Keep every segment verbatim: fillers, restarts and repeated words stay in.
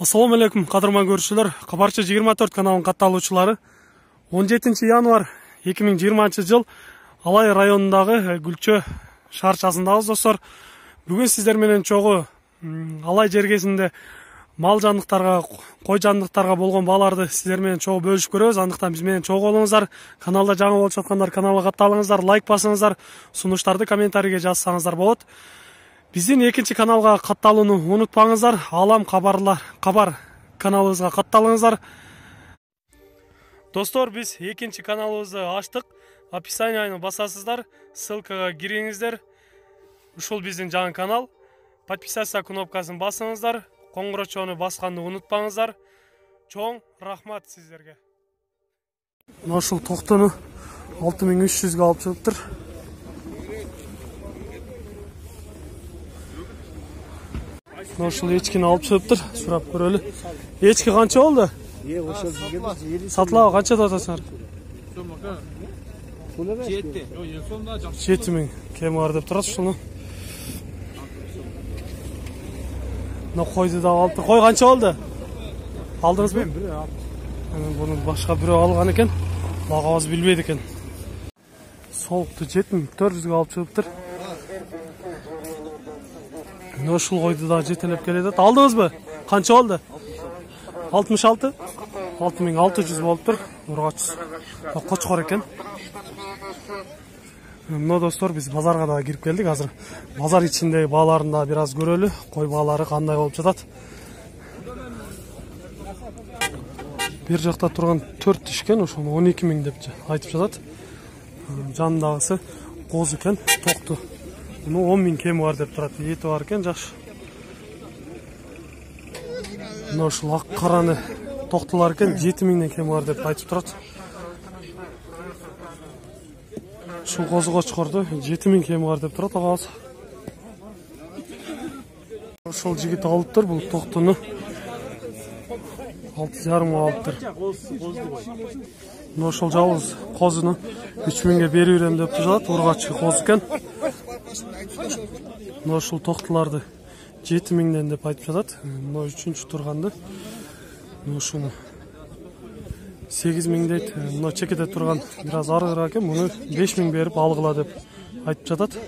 Assalamu alaikum, qadrman көрүүчүлөр. Кабарчы жыйырма төрт каналынын катталуучулары. он жетинчи январь эки миң жыйырманчы жыл Алай районундагы Гүлчө шаарчасындабыз достор. Бүгүн сиздер менен чогуу Алай жергесинде мал жандыктарга, кой жандыктарга болгон бааларды сиздер менен чогуу бөлүшүп көрөбүз. Андыктан биз менен чогуу болуңуздар. Каналда жаңы болуп жаткандар каналга катталыңыздар, лайк басыңыздар, сунуштарды комментарийге жазсаңыздар болот. Биздин экинчи каналга катталууну унутпаңыздар. Алам кабарлар, кабар каналыбызга катталыңыздар. Достор, биз экинчи каналыбызды ачтык. Описанияны басасыздар, ссылкага кириңиздер. Ушул биздин жаңы канал. Подписаться кнопкасын басыңыздар. Коңгурочону басканды унутпаңыздар. Чоң рахмат сиздерге. Ушул токтону алты миң үч жүзгө алып чыгыптыр. Ушул эчкини алып чыгыптыр. Сурап көрөлү. Эчки канча болду? Сатылабы канча атасыңар? жети миң кем бар деп турат ушуну. Мына койду да алып тур. Кой канча болду? Алдыңызбы? Буну башка бирөө алган экен. Багабыз билбейт экен. Солукту жети миң төрт жүзгө алып чыгыптыр. Ушул койду да жетелеп келет. Алдыңызбы? Канча болду? алтымыш алты? алты миң алты жүз болуптур. Ургач. Кочкор экен. Мына достор, биз базарга да кирип келдик. Азыр базар ичиндеги бааларын да бир аз көрөлү. Кой баалары кандай болуп жатат. Бир жакта турган төрт тишкен, ошону он эки миң деп айтып жатат. Жанындагысы коз экен, токту. Муну он миң кеми бар деп турат. Эти бар экен, жакшы. Мына ушул ак караны токтулар экен, жети миңден кеми бар деп айтып турат. Ушул козу кочкорду жети миң кеми бар деп турат агабыз. Ушул жигит алыптыр бул токтуну. алты жарым миң алыптыр. Мына ошол жалгыз козуну үч миңге берип берем деп жатат. Ургачы коз экен. Мына ушул токтуларды жети миңден деп айтып жатат. Мына үчүнчү турганды. Мына ушуну сегиз миң дейт. Мына чекеде турган бир аз арыгыраак экен. Муну беш миң берип алгыла деп айтып жатат.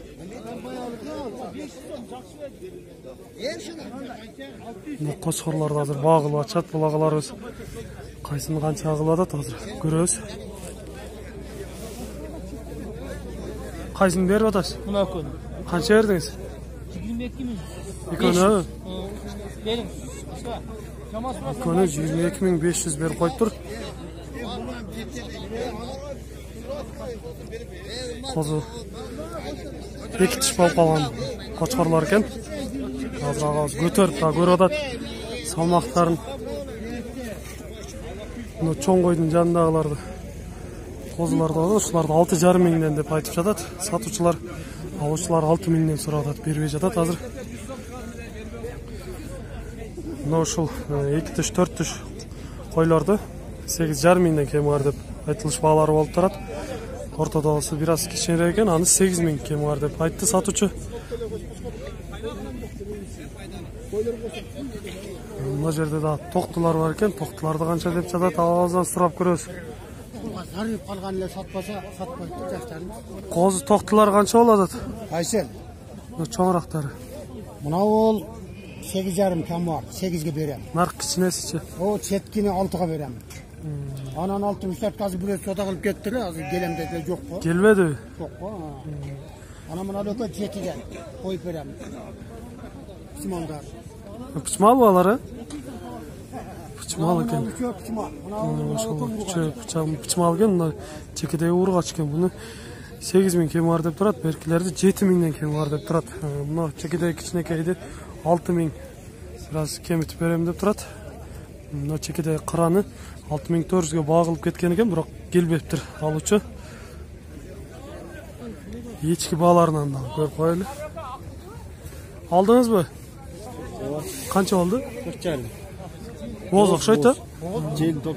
Мына кочкорлорду азыр багылып ачат. Булагаларыбыз кайсыны канча агылып атат азыр көрөбүз. Кайсыны берип атасыз? Мына экөөнү. Канча бердиңиз? жыйырма эки миң. Экөөнү? Бериң. Экөөнү жыйырма эки миң беш жүз берип коюптур. Козу эки тиш болуп калган кочкорлор экен. Азыр агабыз көтөрүп да көрүп атат салмактарын. Мына чоң койдун жанындагыларды козуларды бар, ушуларды алты жарым миңден деп айтып жатат. Сатуучулар, алуучулар алты миңден сурап атат, бербей жатат азыр. Мына ушул эки тиш, төрт тиш койлорду сегиз жарым миңден кеми бар деп айтылыш баалары болуп турат. Ортодогусу бир аз кичинерээк экен, аны сегиз миң кеми бар деп айтты сатуучу. Мына жерде да токтулар бар экен. Токтуларды канча деп жатат, агабыздан сурап көрөбүз. Зарып калган эле сатпаса, сатпайт жаштарын. Козу токтулар канча болуп атат? Кайсы? Мына чоңурактары. Мына бол сегиз жарым кем бар, сегизге берем. Нарк кичинесичи? О, четкини алтыга берем. Анан алтымыш төрт азыр бирөө сода кылып кетти эле, азыр келем деди, жок го. Келбеди? Жок го. Анан мына экөө жетиге коюп берем. Симондар. Пычмал балары? Пычмал экен. Мына ошол пычмал пычмал экен, мына чекедеги ургач экен. Буну сегиз миң кеми бар деп турат, беркилерди жети миңден кеми бар деп турат. Мына чекедеги кичинекейди алты миң бир аз кемитип берем деп турат. Мына чекедеги караны алты миң төрт жүзгө багылып кеткен экен, бирок келбептир алуучу. Эчки бааларынан да көрүп коелу. Алдыңызбы? Канча болду? төрт жарым. Боз окшойт да? Жел топ.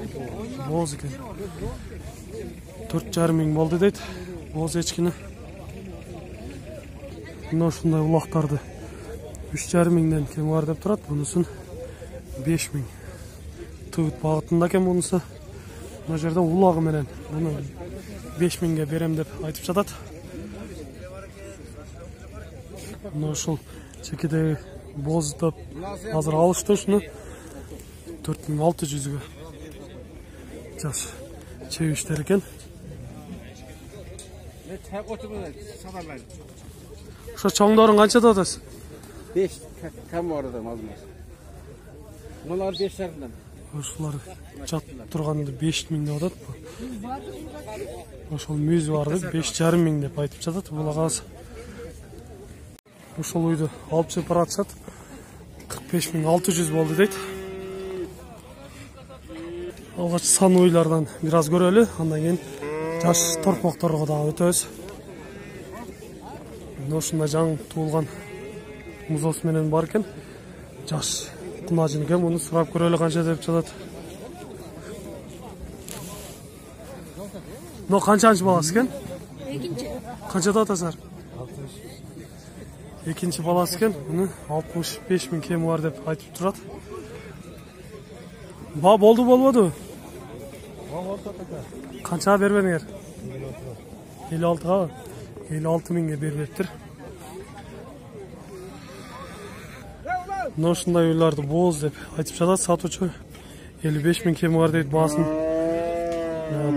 Боз экен. төрт жарым миң болду дейт. Боз эчкини. Мына ушундай улактарды үч жарым миңден кем бар деп турат. Бунусун беш миң. Тыгыт багытында экен мунусу. Мына жерде улагы менен муну беш миңге берем деп айтып жатат. Мына ушул чекедеги боздоп азыр алышты ушуну төрт миң алты жүзгө. Жаш чебиштер экен. Ошо чоңдорун канчада атасыз? беш кам орада мазмас. Мулар беш жарымдан. Ошолар жат турганды беш миң деп атат. Ошол мүйүзү барды беш жарым миң деп айтып жатат. Бул агасы. Ошол үйдү алып чыгып баратышат. кырк беш миң алты жүз болду дейт. Алгач сан уйлардан бир аз көрөлү, андан кийин жаш торпокторго дагы өтөбүз. Ошундай жаңы туулган музос менен бар экен. Жаш кунажын экен, муну сурап көрөлү канча деп жатат. Но канчанчы баласы экен? Экинчи. Канчада атасыздар? Экинчи баласы экен. Муну алтымыш беш миң кеми бар деп айтып турат. Ба болду болбоду? Канчага бербедиңер? элүү алтыга. элүү алты миңге бербептир. Мына ушундай уйларды бооз деп айтып жатат сатуучу. элүү беш миң кеми бар дейт баасын.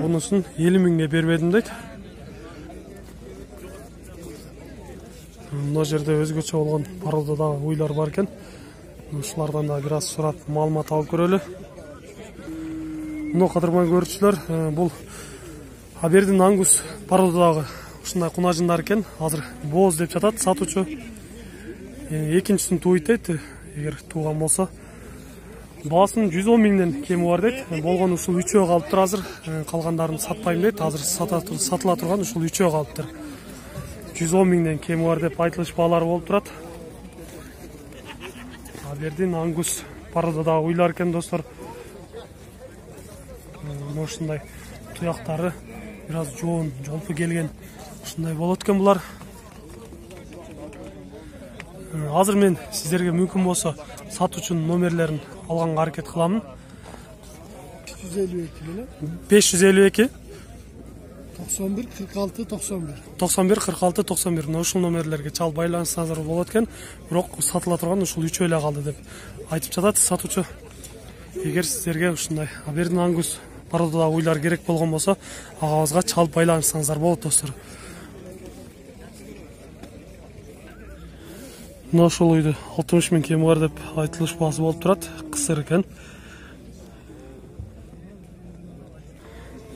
Бунусун элүү миңге бербедим дейт. Мына жерде өзгөчө болгон породадагы уйлар бар экен. Ушулардан да бир аз сурап маалымат алып көрөлү. Мына кадырман көрүүчүлөр, бул Абердин Ангус породадагы ушундай кунажындар экен. Азыр бооз деп жатат сатуучу. Экинчисин тууйт дейт, эгер тууган болсо. Баасын жүз он миңден кеми бар дейт. Болгон ушул үчөө калыптыр азыр. Калгандарын сатпайм дейт. Азыр сатыла турган ушул үчөө калыптыр. жүз он миңден кеми бар деп айтылыш баалары болуп турат. Абердин Ангус породадагы уйлар экен достор. Ушундай туяктары бир аз жоон, жолпу келген ушундай болот экен булар. Азыр мен сиздерге мүмкүн болсо сатуучунун номерлерин алганга аракет кыламын. жүз элүү эки беле? беш жүз элүү эки токсон бир кырк алты токсон бир. токсон бир кырк алты токсон бир. Ушул номерлерге чалып байланышсаңыздар болот экен. Бирок сатыла турган ушул үчөө эле калды деп айтып жатат сатуучу. Эгер сиздерге ушундай Абердин Ангус породадагы уйлар керек болгон болсо, агабызга чалып байланышсаңыздар болот достор. Мына ошол үйдү алтымыш миң кеми бар деп айтылыш баасы болуп турат. Кысыр экен.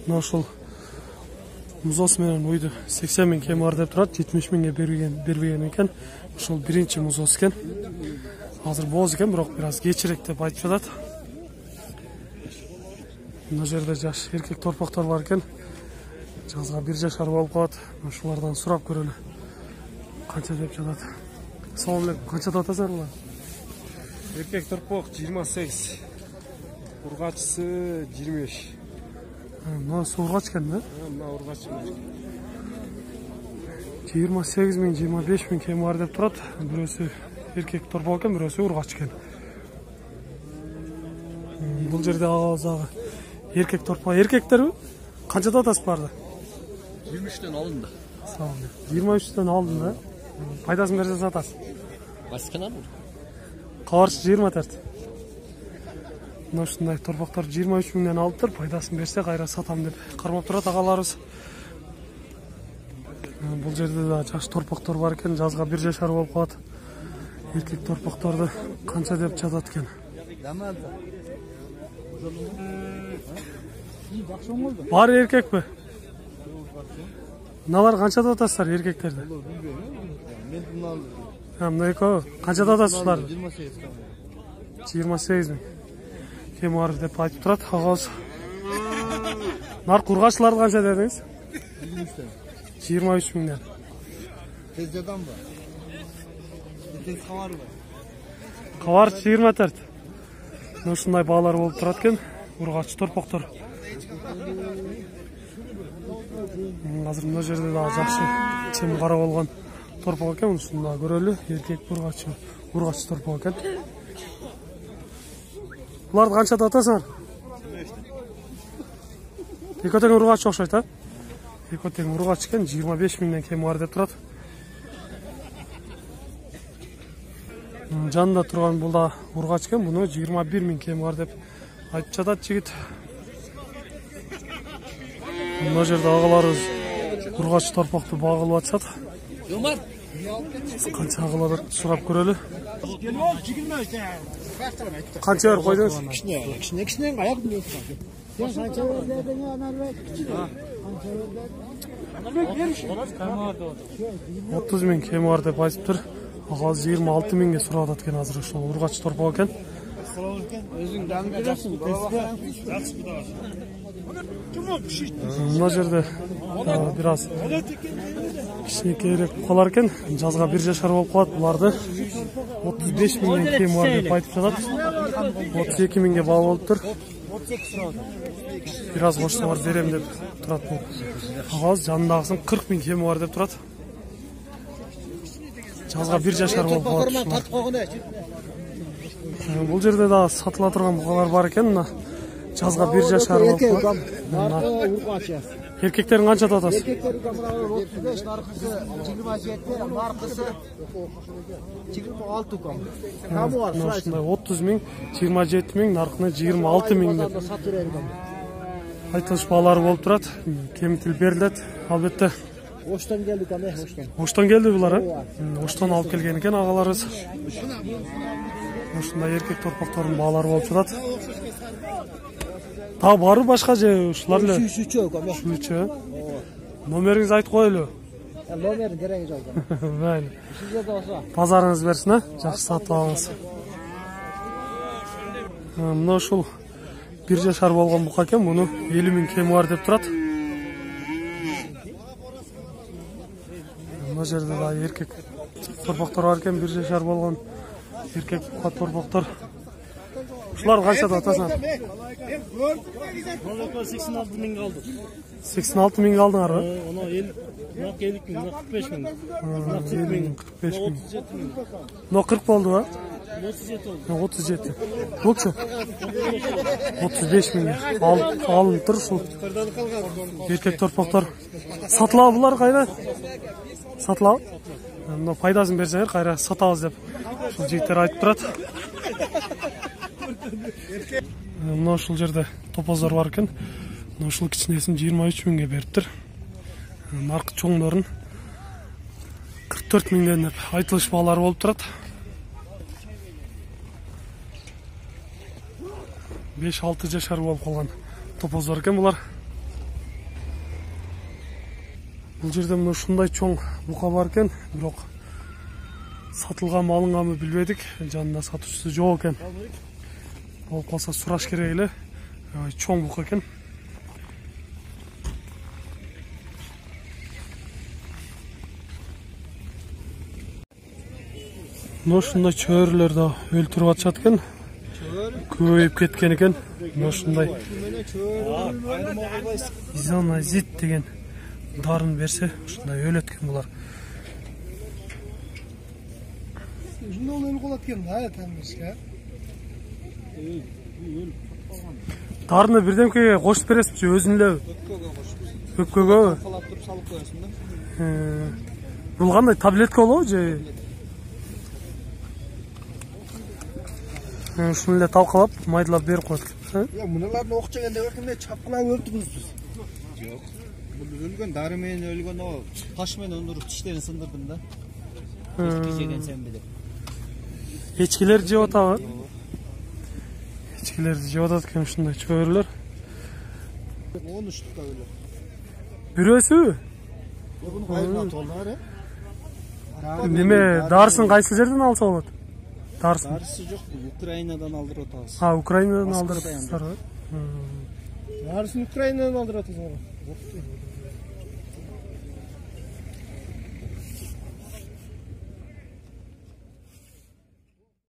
Мына ошол музос менен үйдү сексен миң кеми бар деп турат. жетимиш миңге берген бербеген экен. Ошол биринчи музос экен. Азыр бооз экен, бирок бир аз кечирээк деп айтып жатат. Мына жерде жаш эркек торпоктор бар экен. Жазга бир жашар болуп калат. Ушулардан сурап көрөлү. Канча деп жатат? Салам алейкум. Канчада атасыздар булар? Эркек торпок жыйырма сегиз. Ургачысы жыйырма беш. Мына ургач экен да? Мына ургач. жыйырма сегиз миң, жыйырма беш миң кеми бар деп турат. Бирөөсү эркек торпок экен, бирөөсү ургач экен. Бул жерде агабыздагы эркек торпок, эркектерби? Канчада атасыздар? жыйырма үчтөн алынды. Салам. жыйырма үчтөн алдым да. Пайдасын берсе сатасыз. Баскана бул. Кабарчы жыйырма төрт. Мына ушундай торпоктор жыйырма үч миңден алыптыр. Пайдасын берсе кайра сатам деп кармап турат агаларыбыз. Бул жерде да жаш торпоктор бар экен, жазга бир жашар болуп калат. Эркек торпокторду канча деп жатат экен? Бар эркекпи? Мыналар канчада атасыздар эркектерди? Мына экөө канчада атасыздар? жыйырма сегиз миң. Кем бар деп айтып турат агабыз. Нарк ургачларды канча дедиңиз? жыйырма үч миңден. Тездадан ба? Тез кабар ба? Кабар жыйырма төрт. Ушундай баалар болуп турат экен. Ургач торпоктор. Азыр мына жерде да жакшы чем кара болгон торпок экен. Ушуну да көрөлү. Эркек ургач, ургач торпок экен. Буларды канчада атасыңар? Экөө тең ургач окшойт, а? Экөө тең ургач экен, жыйырма беш миңден кем бар деп турат. Жанында турган бул да ургач экен, буну жыйырма бир миң кем бар деп айтып жатат жигит. Мына жерде агаларыбыз ургач торпокту багылып атышат. Канча агалар сурап көрөлү. Канча бер койдуңуз? Кичине, кичине, кичине аяк билесиң. Сен канча бердиң анарбек? отуз миң кеми бар деп айтыптыр. Агалы жыйырма алты миңге сурап атат экен азыр ошол ургач торпок экен. Өзүң дан бересиң, Мына жерде бир аз кичинекейирээк калар экен. Жазга бир жашар болуп калат. Буларды отуз беш миңден кем бар деп айтып жатат. отуз эки миңге баа болуптур. Бир аз кошсоңор берем деп турат бул. Агалы жанындагысын кырк миң кеми бар деп турат. Жазга бир жашар болуп калат. Бул жерде да сатыла турган букалар бар экен. Мына жазга бир жашар болуп калат. Эркектерин канча деп атасыз? Эркектерге отуз беш, наркысы жыйырма жети, наркысы жыйырма алты ком. Камы бар, ушундай отуз миң, жыйырма жети миң, наркыны жыйырма алты миң деп айтылыш баалары болуп турат. Кемитил берилет, албетте. Оштон келди каме, оштон. Оштон келди булар, э? Оштон алып келген экен агаларыбыз. Ушундай эркек торпоктордун баалары болуп жатат. Та бары башка же ушулар эле? Үчүчө каме. Үчүчө. Номериңизди айтып коелу. Номерин кереги жок. Майли. Сизге да болсо. Базарыңыз берсин, а? Жакшы сатып алыңыз. Мына ушул бир жашар болгон бука экен, муну элүү миң кеми бар деп турат. Мына жерде да эркек торпоктор бар экен, бир жашар болгон эркек бука торпоктор. Ушулар канча деп атасыңар? сексен алты миң алды. сексен алты миң алдыңарбы? Оны элүү миң, кырк беш миң. кырк беш миң. Но кырк болду, а? отуз жети болду. отуз жети. Букчу? отуз беш миң. Алынып тур ушул. Эркек торпоктор. Сатылабы булар кайра? Сатылабы? Мына пайдасын берсеңер кайра сатабыз деп ушул жигиттер айтып турат. Мына ушул жерде топоздор бар экен. Мына ушул кичинесин жыйырма үч миңге бериптир. Наркы чоңдорун кырк төрт миңден деп айтылыш баалары болуп турат. беш алты жашар болуп калган топоздор экен булар. Бул жерде мына ушундай чоң бука бар экен, бирок сатылганбы алынганбы билбедик. Жанында сатуучусу жок экен. Болуп калса сураш керек эле. Чоң бука экен. Мына ушундай чөйрөлөр да өлтүрүп атышат экен. Көбөйүп кеткен экен. Мына ушундай изоназид деген дарын берсе, ушундай өлөт экен булар. Ушундай өлүп калат экен да, тамышка. Дарыны бирдемкеге кошуп бересизби, өзүн эле? Өпкөгө кошуп. Өпкөгө? Калап туруп салып коесуң да. Бул кандай таблетка болобу же? Ушуну эле талкалап, майдалап берип коет экен. Я муналарды ок жегенде өкүмө чапкылап өлтүрүбүз. Жок. Бул өлгөн дары менен өлгөн о таш менен өндүрүп тиштерин сындырдым да. Эчки жеген сен билип. Эчкилер жеп атабы? Эчкилерди жеп атат экен ушундай чөйрөлөр. он үч тукта өлөт. Бирөөсү? Буну кайдан толдуңар, э? Неме, дарысын кайсы жерден алса болот? Дарысын. Дарысы жок, Украинадан алдырып атабыз. А, Украинадан алдырып атасыздар. Дарысын Украинадан алдырып атасыңар.